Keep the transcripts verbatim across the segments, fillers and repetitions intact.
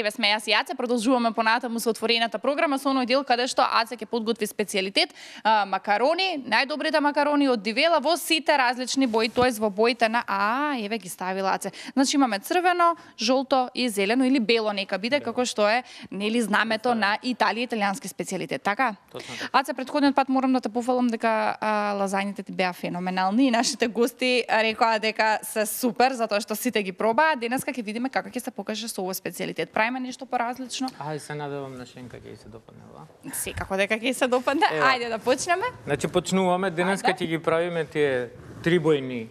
Еве сме јас и Аце, продолжуваме понатаму со отворената програма со оној дел каде што Аце ќе подготви специјалитет, а, макарони, најдобрите макарони од Дивела во сите различни бои, тоест во боите на а, еве ги ставила Аце. Значи имаме црвено, жолто и зелено или бело нека биде бело. Како што е нели знамето на Италија, италијански специјалитет, така? Точно така. Аце, претходниот пат морам да те пофалам дека а, лазањите ти беа феноменални и нашите гости рекоа дека се супер затоа што сите ги пробаа. Денеска ќе видиме како ќе се покаже со овој специјалитет. Правиме нешто поразлично. Ај се надевам на Шенка ќе се допадне, ва? Секако дека ќе се допадне. Ајде да почнеме. Значи почнуваме, денеска ќе ги правиме тие трибојни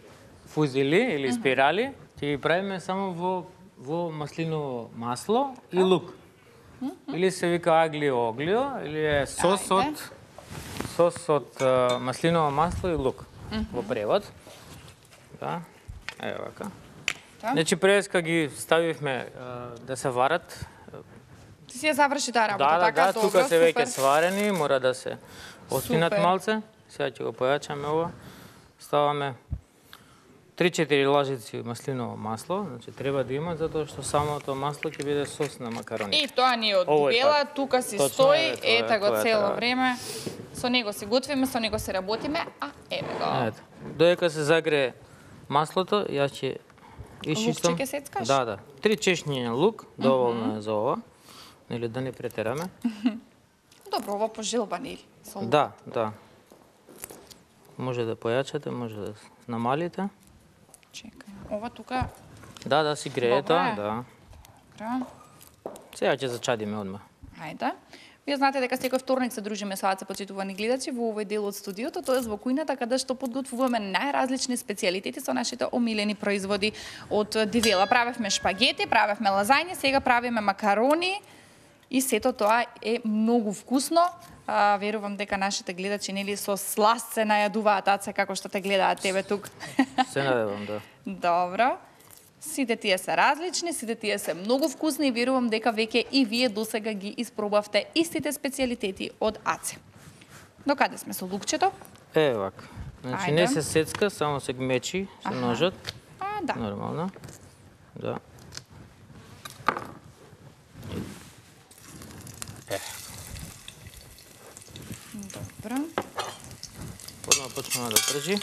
фузили или спирали, ќе ги правиме само во во маслиново масло и лук. Или се вика аглио оглио, или е сос од сос од маслиново масло и лук во превод. Да. Ево вака. Значи преска ги ставивме да се варат. Ти си ја заврши таа работа, да, така? Да, да, тука се веќе сварени, мора да се отпинат малце. Сега ќе го појачаме ова. Ставаме три-четири лажици маслиново масло, значи треба да има затоа што самото масло ќе биде сос на макарони. И тоа ни од Дивела, тука си стои, ета го цело време. Со него се готвиме, со него се работиме, а еве го. Ето. Додека се загрее маслото, јас ќе исчистам. Лукче ќе сецкаш? Да, да. Три чешњи лук, доволно е за ова. Нели да не претераме. Добро, ова по желба нели? Да, да. Може да појачате, може да намалите. Чекај. Ова тука. Да, да, си грее тоа, да. Добро. Сега ќе зачадиме одма. Ајде. Вие знаете дека секој вторник се дружиме со Аце, почитувани гледачи, во овој дел од студиото, тоест во кујната каде што подготвуваме најразлични специјалитети со нашите омилени производи од Дивела. Правевме шпагети, правевме лазањи, сега правиме макарони и сето тоа е многу вкусно. А, верувам дека нашите гледачи нели со сласт се најадуваат, Аце, како што те гледаат тебе тук. Се надевам, да. Добро. Сите тие се различни, сите тие се многу вкусни и верувам дека веќе и вие досега ги испробавте истите специјалитети од Аце. Докаде сме со лукчето? Е, вака. Значи не се сецка, само се гмечи со ножот. А, да. Нормално. Да. Е. Добро. Одма почнува да пржи.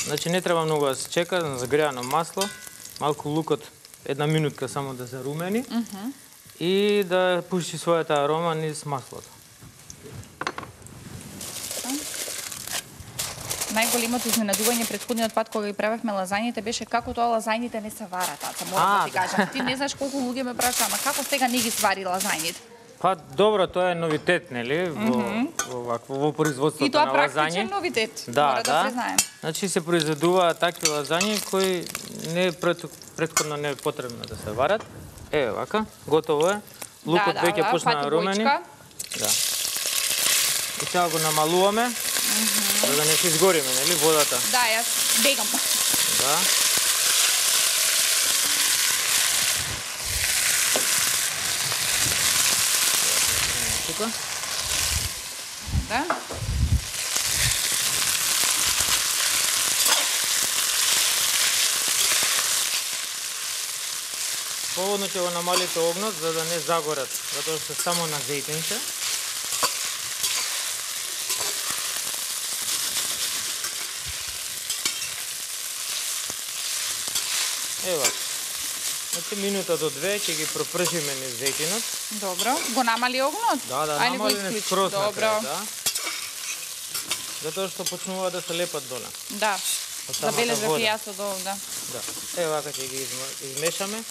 Значи не треба многу да се чека на загреано масло, малку лукот една минутка само да се румени uh -huh. и да пушти својата арома низ маслото. Најголемото изненадување претходниот пат кога ги правевме лазањите беше како тоа лазањите не се варат, Аца, морам да ти кажам. Ти не знаеш колку луѓе ме прашаа, ама како сега не ги свари лазањите? Па добро, тоа е новитет, нели, во mm -hmm. во вакво во производството на лазање. И тоа практичен новитет, да, мора да, да признаем. Значи се произведуваат такви лазањи кои не пред, предходно не е потребно да се варат. Еве вака, готово е. Лукот да, веќе да, почна да румени. Да. И сега го намалуваме, mm -hmm. за да не се изгориме, нели, водата. Да, јас бегам. Да. Тука. Да. Поводно ќе го намалите огнот за да не загорат, затоа што само на зејтинче. Ева. Значи минута до две ќе ги пропржиме низ зејтинот. Добро. Го намали огнот? Да, да, намали низ скроз на крај, да. Затоа што почнува да се лепат доле. Да. Забележав и јас од овде. Да. Ева вака ќе ги измешаме.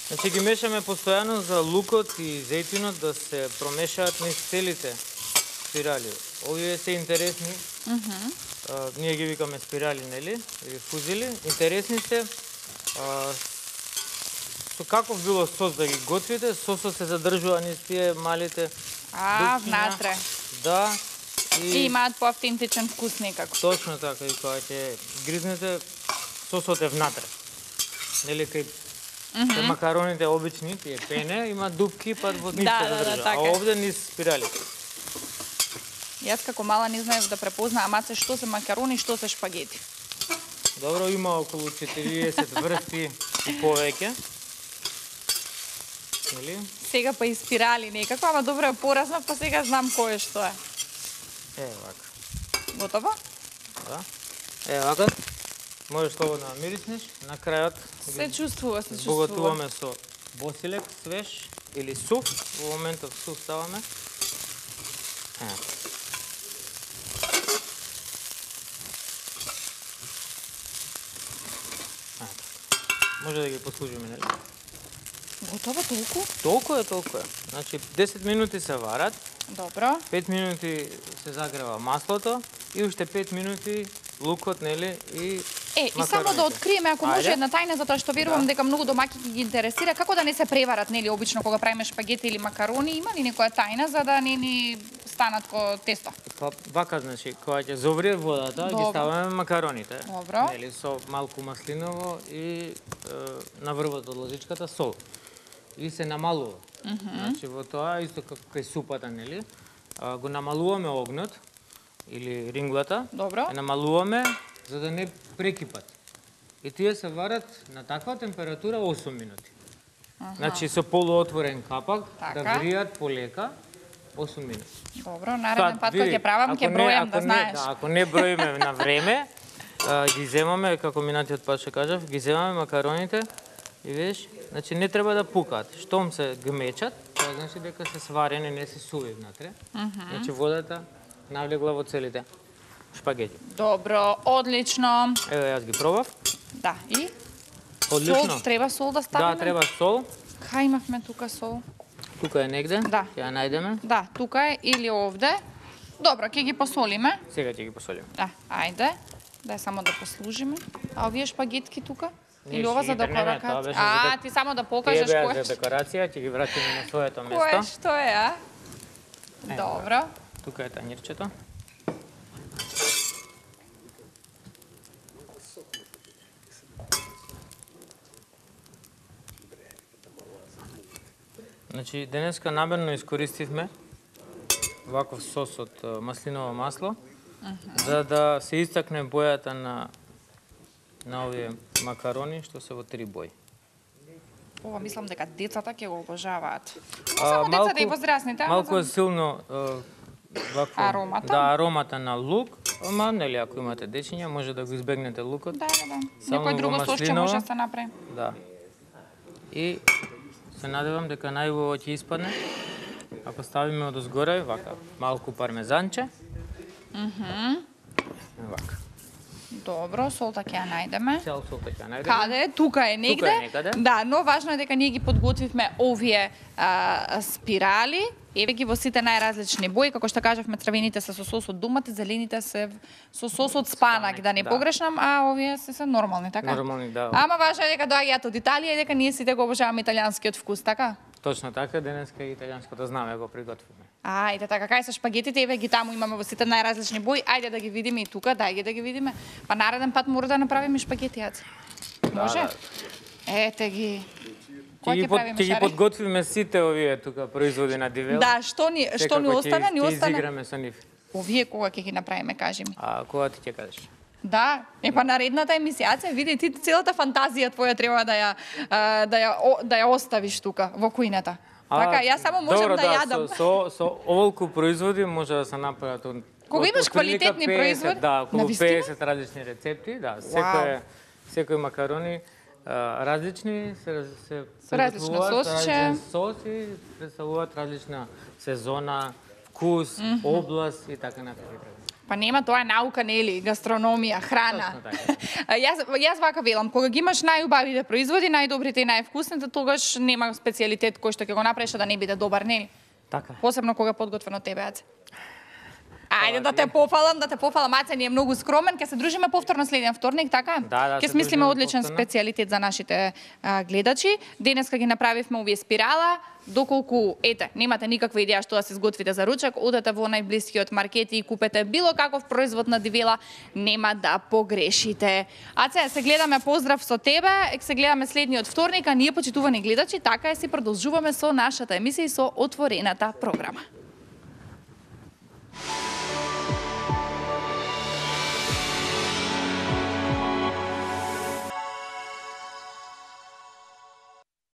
Значи ги мешаме постојано за лукот и зејтинот да се промешаат низ целите спирали. Овие се интересни. Mm -hmm. а, ние ги викаме спирали, нели? Или фузили. Интересни се. А, со каков било сос да ги готвите, сосот се задржува низ тие малите А, внатре. Да. И, и имаат поавтентичен вкус некако. Точно така, и кога ќе гризнете, сосот е внатре. Нели, кај mm -hmm. макароните обични, тие пене, има дупки, па во нив се задржува. Да, да, а овде низ спиралите. Јас како мала не знаев да препознаам, Аце, што се макарони, што се шпагети. Добро, има околу четириесет врсти и повеќе. нели? Сега па и спирали некако, ама добро е поразнав, па сега знам кој е што е. Е, вака. Готово? Да. Е, вака. Можеш слободно да мириснеш. На крајот се чувствува, се чувствува. Богатуваме со босилек, свеж или сув. Во моментов сув ставаме. Е. Може да ги послужиме, нели? Готово толку? Толку е, толку е. Значи десет минути се варат. Добро. пет минути се загрева маслото и уште пет минути лукот, нели, и Е, и само да откриеме, ако може една тајна, затоа што верувам дека многу домаќи ги интересира, како да не се преварат, нели, обично кога правиме шпагети или макарони, има ли некоја тајна за да не ни станат ко тесто? Па вака, значи, кога ќе зоврие водата, ги ставаме макароните. Добро. Нели, со малку маслиново и е, на врвот од лозичката сол. И се намалува. Mm -hmm. Значи во тоа исто како кај супата, нели, а, го намалуваме огнот или ринглата. Добро. Ја намалуваме за да не прекипат. И тие се варат на таква температура осум минути. Аха. Значи со полуотворен капак така, да вријат полека осум минути. Добро, нареден пат кога ќе правам ќе бројам, да знаеш. Да, ако не броиме на време, а, ги земаме, како минатиот пат што кажав, ги земаме макароните и видиш, значи не треба да пукаат. Штом се гмечат, тоа значи дека се сварени, не се суви внатре. Mm -hmm. Значи водата навлегла во целите шпагети. Добро, одлично. Еве, јас ги пробав. Да, и? Одлично. Сол, треба сол да ставиме? Да, треба сол. Кај имавме тука сол? Тука е негде, да. Ќе ја најдеме. Да, тука е или овде. Добро, ќе ги посолиме. Сега ќе ги посолиме. Да, ајде. Да само да послужиме. А овие шпагетки тука? Не, или ова за декорација? А, ти само да покажеш кој кој е. За декорација, ќе ги вратиме на своето место. Кој што е, а? Добро. Тука е тањирчето. Значи, денеска намерно искористивме ваков сос од маслиново масло, uh -huh. за да се истакне бојата на на овие макарони што се во три бои. Ова мислам дека децата ќе го обожаваат. А, само малку, децата и возрастните. Малку е силно вакво, аромата. Да, аромата на лук, ама нели ако имате дечиња може да го избегнете лукот. Да, да, да. Некој друго сосче може да се направи. Да. И се надевам дека најубаво ќе испадне. Ако ставиме одозгоре, вака, малку пармезанче. Мхм. Mm вака. Добро, солта ќе ја најдеме. Цел солта ќе ја најдеме. Каде? Тука е негде. Тука е некаде. Да, но важно е дека ние ги подготвивме овие а, спирали. Еве ги во сите најразлични бои, како што кажавме, црвените се со сос од думата, зелените се со сос од спанак, да не да. погрешам, а овие се се нормални, така? Нормални, да. Ама важно е дека доаѓаат од Италија и дека ние сите го обожаваме италијанскиот вкус, така? Точно така, денеска италијанското знаме го приготвиме. Ајде, така, кај се шпагетите, еве ги таму имаме во сите најразлични бои, ајде да ги видиме и тука, дај да ги видиме. Па нареден пат мора да направиме шпагети, јаце. Може? Да, да. Ете ги. Ќе ги, под, ги подготвиме сите овие тука производи на Дивела. Да, што ни што ни остана, ни остана. Ќе изиграме со нив. Овие кога ќе ги направиме, кажи ми. А кога ти ќе кажеш? Да, е па наредната емисија, се види ти целата фантазија твоја треба да ја да ја да ја оставиш тука во кујната. Така, јас само можам добро, да, да јадам. Со, со, со оволку производи може да се направат од кога имаш квалитетни петдесет, производи, да, околу петдесет различни рецепти, да, секој секој макарони а, различни се се со различно сосче, соси, представуваат различна сезона, вкус, mm -hmm. област и така натаму. Па нема, тоа е наука, нели, гастрономија, храна. јас јас вака велам, кога ги имаш најубавите производи, најдобрите и највкусните, тогаш нема специјалитет кој што ќе го направиш да не биде добар, нели? Така. Посебно кога подготвено од тебе, Аце. Ајде да те пофалам, да те пофалам, Аце ни е многу скромен, ќе се дружиме повторно следен вторник, така? Да, да, ќе смислиме одличен повторно специјалитет за нашите а, гледачи. Денеска ги направивме овие спирала, доколку, ете, немате никаква идеја што да се изготвите за ручек, одете во најблискиот маркет и купете било каков производ на Дивела, нема да погрешите. Аце, се гледаме, поздрав со тебе, се гледаме следниот вторник, а ние, почитувани гледачи, така е, си продолжуваме со нашата емисија и со отворената програма.